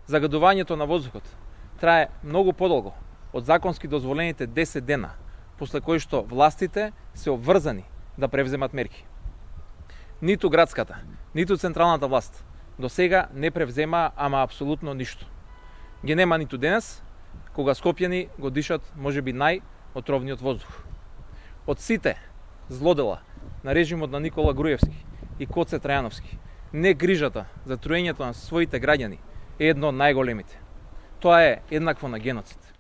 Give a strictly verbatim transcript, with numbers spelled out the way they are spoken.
Загадувањето на воздухот трае многу подолго од законски дозволените десет дена, после кои што властите се обврзани да превземат мерки. Ниту градската, ниту централната власт до сега не превзема ама апсолутно ништо. Ги нема ниту денес, кога скопјани го дишат можеби најотровниот воздух. Од сите злодела на режимот на Никола Груевски и Коце Трајановски, не грижата за труењето на своите граѓани е едно од најголемите. Тоа е еднакво на геноцид.